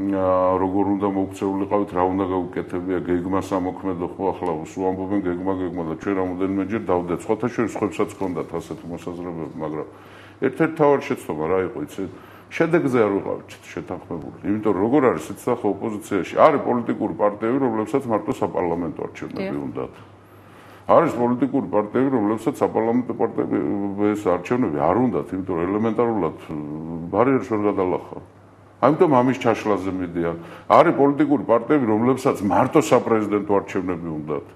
როგორ უნდა მოქცეულიყავით, რა უნდა გავუკეთებია, გეგმა სამოქმედო ხო ახლა უამბობენ გეგმა და ჩვენ რამოდენიმეჯერ დავდეთ. სხვათა შორის ხვებსაც ჰქონდათ ასეთი მოსაზრებები, მაგრამ ერთ-ერთი თავარი შეცდომა რა იყო, იცით? შედეგზე არ ვიყავით შეთანხმებული. იმიტომ რომ როგორ არის იცით ახლა ოპოზიციაში, არის პოლიტიკური პარტიები, რომლებსაც მარტო საპარლამენტო არჩევნები უნდათ. არის პოლიტიკური პარტიები, რომლებსაც საპარლამენტო პარტიები ეს არჩევნები არ უნდათ, იმიტომ რომ ელემენტარულად ბარიერს ვერ გადალახავ. ამიტომ ამის ჩაშლაზე მიდიან. არის პოლიტიკური პარტიები, რომლებსაც მარტო საპრეზიდენტო არჩევნები უნდათ.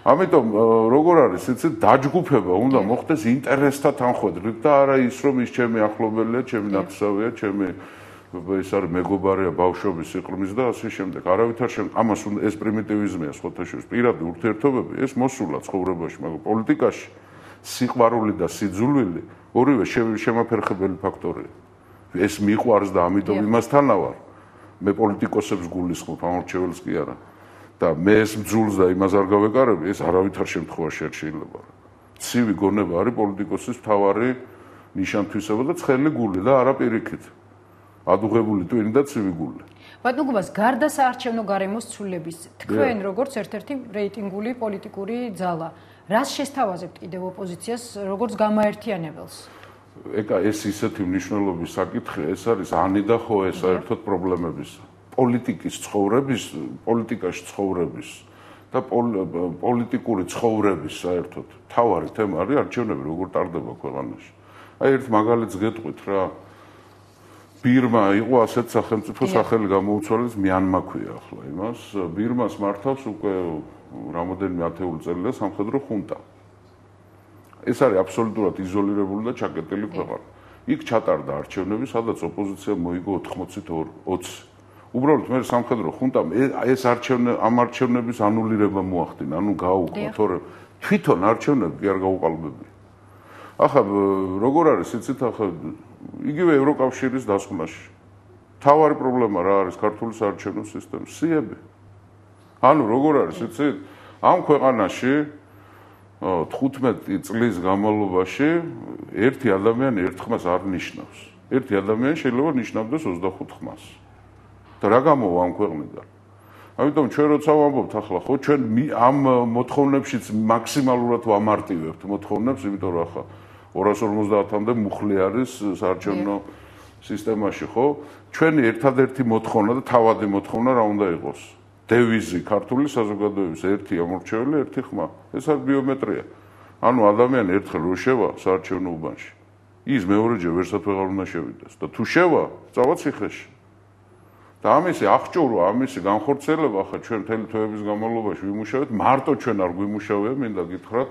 ამიტომ როგორ არის, იცით, დაჯგუფება უნდა მოხდეს ინტერესთა თანხმდით და არა ის, რომ ის ჩემი ახლობელია, ჩემი ნათესავია, ჩემი ეს არის მეგობარია ბავშვობის სიყრმის და ასე შემდეგ. არავითარ ამას ეს პრიმიტივიზმია სხვათა შორის. პირადი ურთიერთობები ეს მოსულა ცხოვრებაში, მაგრამ პოლიტიკაში სიყვარული და სიძულვილი ორივე შემაფერხებელი ფაქტორია. ეს მიყვარს და ამიტომ იმასთანა ვარ. მე პოლიტიკოსებს გულისხმობ, ამორჩეველს კი არა. და მე ეს მძულს და იმას არ გავეკარები, ეს არავითარ შემთხვევაში არ შეიძლება. ცივი გონება არის პოლიტიკოსის მთავარი ნიშან-თვისება და ცხელი გული და არა პირიქით. ადუღებული ტვინი და ცივი გული. ბატონო გუბას, გარდა საარჩევნო გარემოს ცვლილების, თქვენ როგორც ერთ-ერთი რეიტინგული პოლიტიკური ძალა, რას შესთავაზებთ კიდევ ოპოზიციას, როგორც გამაერთიანებელს? ეს ისეთი მნიშვნელობის საკითხია, ეს არის ანი და ხო ეს საერთოდ პრობლემების. პოლიტიკაში ცხოვრების და პოლიტიკური ცხოვრების საერთოდ თავარი თემა არის არჩევნები როგორ ტარდება ქვეყანაში. აი ერთ მაგალითს გეტყვით რა. ბირმა იყო ასეთ სახელმწიფო სახელი გამოუცვალეს მიანმა ქვია ახლა იმას. ბირმას მართავს უკვე რამოდენიმე ათეული წელია სამხედრო ხუნტა. ეს არის აბსოლუტურად იზოლირებული და ჩაკეტილი ქვეყანა. იქ ჩატარდა არჩევნები, სადაც ოპოზიცია მოიგო 80-20. უბრალოდ მე სამხედრო ხუნტამ ეს ამ არჩევნების ანულირება მოახდინა, ანუ გაუყო, თორემ თვითონ არჩევნები კი არ გაუყალბებია. ახლა როგორ არის, იცით, ახლა იგივე ევროკავშირის დასკვნაში. თავარი პრობლემა რა არის ქართული საარჩევნო სისტემის სიები. ანუ როგორ არის, იცით, ამ ქვეყანაში 15 წლის განმავლობაში ერთი ადამიანი ერთ ხმას არ ნიშნავს. ერთი ადამიანი შეიძლება ნიშნავდეს 25 ხმას. და რა გამოვა ამ ქვეყნიდან? ამიტომ ჩვენ როცა ვამბობთ ახლა, ხო, ჩვენ ამ მოთხოვნებშიც მაქსიმალურად ვამარტივებთ მოთხოვნებს, იმიტომ რომ ახლა 250-მდე მუხლი არის საარჩევნო სისტემაში, ხო? ჩვენი ერთადერთი მოთხოვნა და თავადი მოთხოვნა რა უნდა იყოს? დევიზი ქართული საზოგადოების ერთი ამორჩეველი, ერთი ხმა. ეს არის ბიომეტრია. ანუ ადამიანი ერთხელ რო შევა საარჩევნო უბანში, ის მეორეჯერ ვერსად ვეღარ უნდა შევიდეს და თუ შევა, წავა ციხეში. და ამისი აღჭურვა, ამისი განხორციელება ახლა ჩვენ მთელი თვეების განმავლობაში ვიმუშავეთ, მარტო ჩვენ არ გვიმუშავია, მინდა გითხრათ,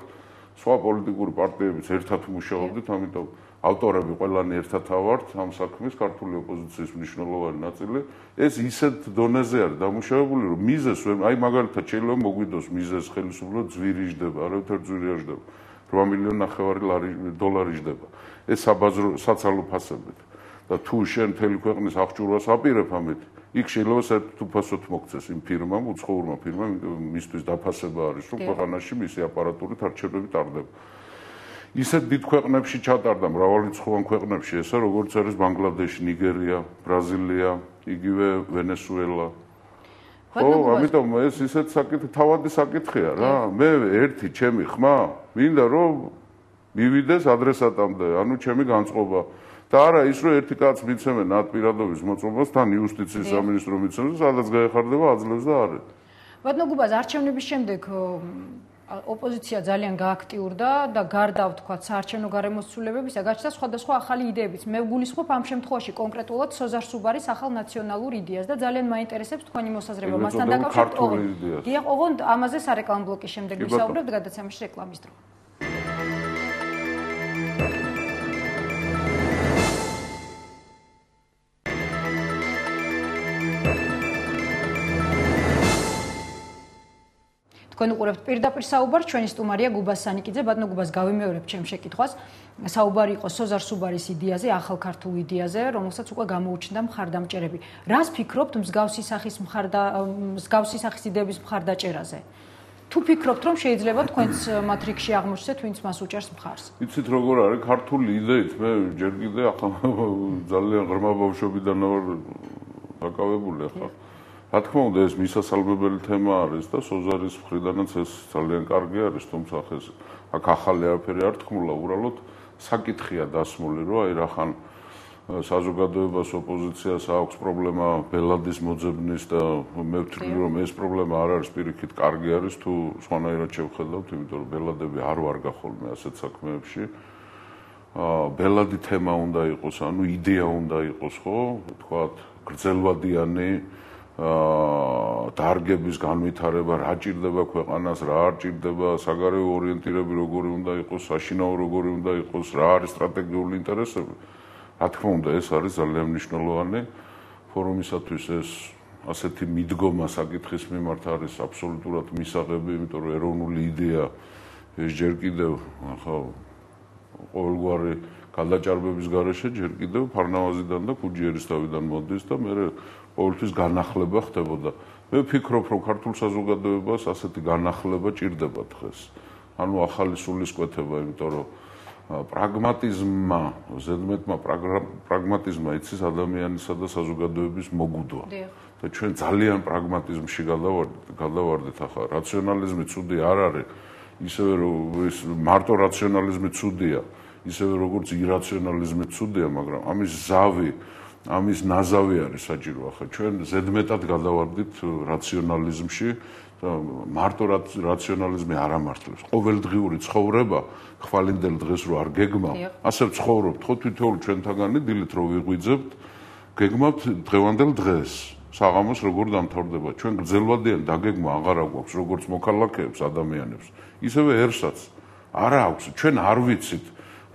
სხვა პოლიტიკური პარტიებიც ერთად მუშაობდით, ამიტომ ავტორები ყველანი ერთად ავართ ამ საქმის, ქართული ოპოზიციის მნიშვნელოვანი ნაწილი. ეს ისეთ დონეზე არის დამუშავებული, რომ მიზეს აი მაგალითად შეიძლება მოგვიდოს მიზეს ხელისუფლება ძვირი ჯდება, არავითარ ძვირი არ ჯდება. 8,5 მილიონი დოლარი ჯდება. ეს საბაზრო საცალო ფასებით. და თუ შენ მთელი ქვეყნის აღჭურვას აპირებ ამით, იქ შეიძლება საერთოდ უფასოდ მოგცეს იმ ფირმამ, უცხოურმა ფირმამ, მისთვის დაფასება არის, რომ ქვეყანაში მისი აპარატურით არჩევნები ტარდება. ისეთ დიდ ქვეყნებში ჩატარდა, მრავალრიცხოვან ქვეყნებში, ესა როგორც არის ბანგლადეში, ნიგერია, ბრაზილია, იგივე ვენესუელა. ხო, ამიტომ ეს ისეთ საკითხი, თავადი საკითხია რა. მე ერთი ჩემი ხმა მინდა რომ მივიდეს ადრესატამდე, ანუ ჩემი განწყობა. და არა ის რომ ერთი კაც მიცემენ ატპირადობის მოწყობას თან იუსტიციის სამინისტრო მიცემს, სადაც გაეხარდება აძლევს და არის. ბატონო გუბაზ, არჩევნების შემდეგ ოპოზიცია ძალიან გააქტიურდა და გარდა ვთქვათ საარჩევნო გარემოს ცვლილებებისა გაჩნდა სხვადასხვა ახალი იდეებიც. მე ვგულისხმობ ამ შემთხვევაში კონკრეტულად სოზარ სუბარის ახალ ნაციონალურ იდეას და ძალიან მაინტერესებს თქვენი მოსაზრება მასთან დაკავშირებით. დიახ, ოღონდ ამაზე სარეკლამო ბლოკის შემდეგ ვისაუბრებთ, გადაცემაში რეკლამის დრო. თქვენ უყურებთ პირდაპირ საუბარს, ჩვენი სტუმარია გუბას სანიკიძე. ბატონო გუბას, გავიმეორებ ჩემ შეკითხვას. საუბარი იყო სოზარ სუბარის იდეაზე, ახალ ქართულ იდეაზე, რომელსაც უკვე გამოუჩნდა მხარდამჭერები. რას ფიქრობთ მსგავსი სახის იდეების მხარდაჭერაზე? თუ ფიქრობთ, რომ შეიძლება თქვენც მათ რიგში აღმოჩნდეთ, ვინც მას უჭერს მხარს? იცით როგორ არის ქართული იდეით, მე ჯერ კიდე ახლა ძალიან ღრმა ბავშვობიდან ვარ დაკავებული ახლა. რა თქმა უნდა, ეს მისასალმებელი თემა არის და სოზარის მხრიდანაც ეს ძალიან კარგი არის, თუმცა აქ ახალი არაფერი არ თქმულა, უბრალოდ საკითხია დასმული, რომ აი რახან საზოგადოებას ოპოზიციას აქვს პრობლემა ბელადის მოძებნის და მე ვთვლი რომ ეს პრობლემა არ არის პირიქით კარგი არის თუ სხვანაირად შევხედავთ, იმიტომ რომ ბელადები არ ვარ გახოლმე ასეთ საქმეებში. ბელადი თემა უნდა იყოს, ანუ იდეა უნდა იყოს, ხო? თქვათ, გრძელვადიანი დარგების განვითარება, რა ჭირდება ქვეყანას, რა არ ჭირდება, საგარეო ორიენტირება როგორი უნდა იყოს, საშინაო როგორი უნდა იყოს, რა არის სტრატეგიული ინტერესები. რა თქმა უნდა, ეს არის ძალიან მნიშვნელოვანი ფორუმისათვის ეს ასეთი მიდგომა საკითხის მიმართ არის აბსოლუტურად მისაღები, იმიტომ რომ ეროვნული იდეა ეს ჯერ კიდევ ახლა ყოველგვარი გადაჭარბების გარეშე ჯერ კიდევ ფარნავაზიდან და ქუჯიერისთავიდან მოდის და მე ყოველთვის განახლება ხდებოდა. მე ვფიქრობ, რომ ქართულ საზოგადოებას ასეთი განახლება ჭირდება დღეს. ანუ ახალი სულისკვეთება, იმიტომ რომ პრაგმატიზმმა, ზედმეტმა პრაგმატიზმმა იცის ადამიანისა და საზოგადოების მოგუდვა. და ჩვენ ძალიან პრაგმატიზმში გადავარდით ახლა. რაციონალიზმი ცუდი არ არის, ისევე ის მარტო რაციონალიზმი ცუდია, ისევე როგორც ირაციონალიზმი ცუდია, მაგრამ ამის ნაზავი არის საჭირო ახლა. ჩვენ ზედმეტად გადავარდით რაციონალიზმში და მარტო რაციონალიზმი არ ამართლებს. ყოველდღიური ცხოვრება ხვალინდელ დღეს რო არ გეგმავ, ასე ვცხოვრობთ, ხო თითოეული ჩვენთაგანი დილით რო ვიღვიძებთ, გეგმავთ დღევანდელ დღეს. საღამოს როგორ დამთავრდება. ჩვენ გრძელვადიან დაგეგმა აღარ აქვს, როგორც მოქალაქეებს, ადამიანებს. ისევე ერსაც არ აქვს. ჩვენ არ ვიცით,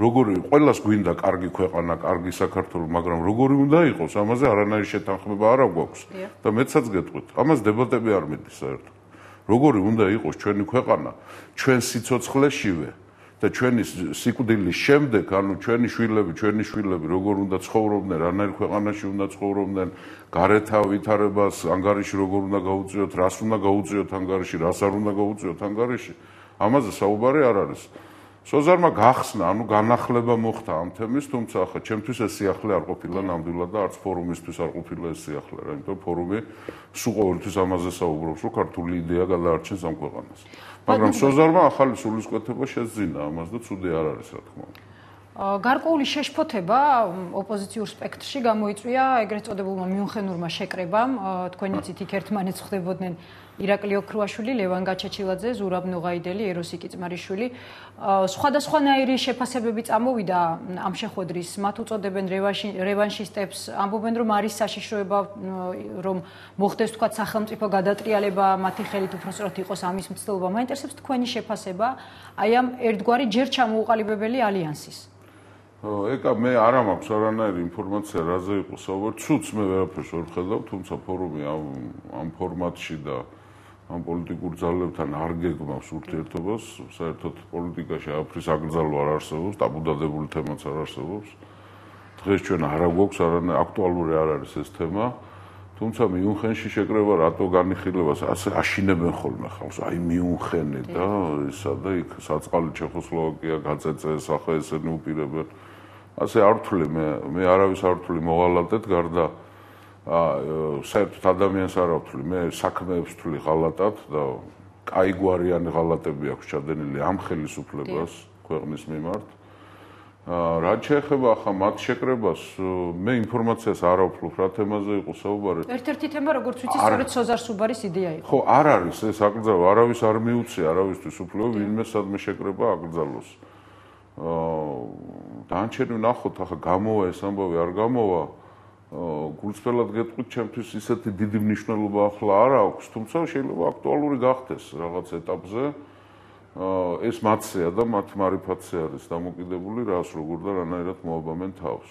როგორი ყველას გვინდა კარგი ქვეყანა, კარგი საქართველო, მაგრამ როგორი უნდა იყოს, ამაზე არანაირი შეთანხმება არ აქვს. და მეცაც გეტყვით, ამას დებატები არ მიდის საერთოდ. როგორი უნდა იყოს ჩვენი ქვეყანა, ჩვენ სიცოცხლეშივე და ჩვენი სიკვდილის შემდეგ, ანუ ჩვენი შვილები როგორ უნდა ცხოვრობდნენ, რანაირ ქვეყანაში უნდა ცხოვრობდნენ, გარეთა ვითარებას ანგარიში როგორ უნდა გაუწიოთ, რას უნდა გაუწიოთ ანგარიში, რას არ უნდა გაუწიოთ ანგარიში, ამაზე საუბარი არ არის. სოზარმა გახსნა, ანუ განახლება მოხდა ამ თემის, თუმცა ახლა ჩემთვის ეს სიახლე არ ყოფილა ნამდვილად და არც ფორუმისთვის არ ყოფილა ეს სიახლე, რა, იმიტომ ფორუმი სულ ყოველთვის ამაზე საუბრობს, რომ ქართული იდეა გადაარჩენს ამ ქვეყანას. მაგრამ სოზარმა ახალი სულისკვეთება შეძინა ამას და ცუდი არ არის, რა თქმა უნდა. გარკვეული შეშფოთება ოპოზიციურ სპექტრში გამოიწვია ეგრეთ წოდებულმა მიუნხენურმა შეკრებამ, თქვენი ცით იქ ერთმანეთს ხვდებოდნენ ირაკლი ოქრუაშვილი, ლევან გაჩაჩილაძე, ზურაბ ნუღაიდელი, ეროსი კიწმარიშვილი. სხვადასხვანაირი შეფასებები წამოვიდა ამ შეხვედრის, მათ უწოდებენ რევანშისტებს, ამბობენ რომ არის საშიშროება, რომ მოხდეს თქვათ სახელმწიფო გადატრიალება, მათი ხელით უბრალოდ იყოს ამის მცდელობა. მაინტერესებს თქვენი შეფასება აი ამ ერთგვარი ჯერ ჩამოუყალიბებელი ალიანსის. ეკა მე არ მაქვს არანაირი ინფორმაცია რაზე იყო საუბარი, ცუც მე ვერაფერს ვერ ვხედავ, თუმცა ფორუმი ამ ფორმატში და ამ პოლიტიკურ ძალებთან არ გეგმავს ურთიერთობას, საერთოდ პოლიტიკაში არაფრის აკრძალვა არ არსებობს, დაბუდადებული თემაც არ არსებობს. დღეს ჩვენ არ გვაქვს არანაირი აქტუალური არ არის ეს თემა, თუმცა მიუნხენში შეკრება რატო განიხილებას ასე აშინებენ ხოლმე ხალხს, აი მიუნხენი და ისა და იქ საწყალი ჩეხოსლოვაკია გაწეწე, ახლა ესენი უპირებენ. ასე არ ვთვლი მე არავის არ ვთვლი მოღალატედ გარდა საერთოდ ადამიანს არ ვთვლი, მე საქმეებს ვთვლი ღალატად და კაიგვარიანი ღალატები აქვს ჩადენილი ამ ხელისუფლებას ქვეყნის მიმართ. რაც შეეხება ახლა მათ შეკრებას, მე ინფორმაციას არ ვფლობ რა თემაზე იყო საუბარი. ერთ-ერთი თემა, როგორც ვიცი, სწორედ სოზარ სუბარის იდეა იყო. ხო, არ არის ეს აკრძალვა, არავის არ მიუწია, არავისთვის უფლება ვინმე სადმე შეკრება აკრძალოს. დანარჩენი ვნახოთ, ახლა გამოვა ეს ამბავი არ გამოვა. გულწრფელად გეტყვით, ჩემთვის ისეთი დიდი მნიშვნელობა ახლა არ აქვს, თუმცა შეიძლება აქტუალური გახდეს რაღაც ეტაპზე. ეს მათსეა და მათ მარიფატზე არის დამოკიდებული, რას როგორ და რანაირად მოაბამენ თავს.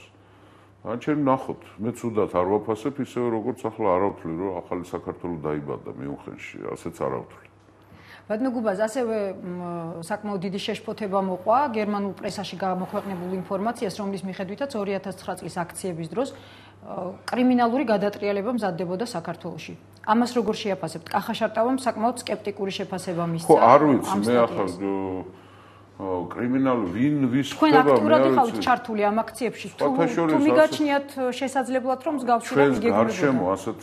დანარჩენი ვნახოთ, მე ცუდად არ ვაფასებ, ისევე როგორც ახლა არ ვთვლი, რომ ახალი საქართველო დაიბადა მიუნხენში, ასეც არ ვთვლი. ბატონო გუბაზ, ასევე საკმაოდ დიდი შეშფოთება მოყვა გერმანულ პრესაში გამოქვეყნებულ ინფორმაციას, რომლის მიხედვითაც 2009 წლის აქციების დროს კრიმინალური გადატრიალება მზადდებოდა საქართველოში. ამას როგორ შეაფასებთ? კახაშარტავამ საკმაოდ სკეპტიკური შეფასება მისცა. ხო, არ ვიცი, მე ახლა კრიმინალ ვინ ვის თქვენ აქტიურად ხართ ჩართული ამ აქციებში თუ მიგაჩნიათ შესაძლებლად რომ მსგავსი ჩვენ გარშემო ასეთ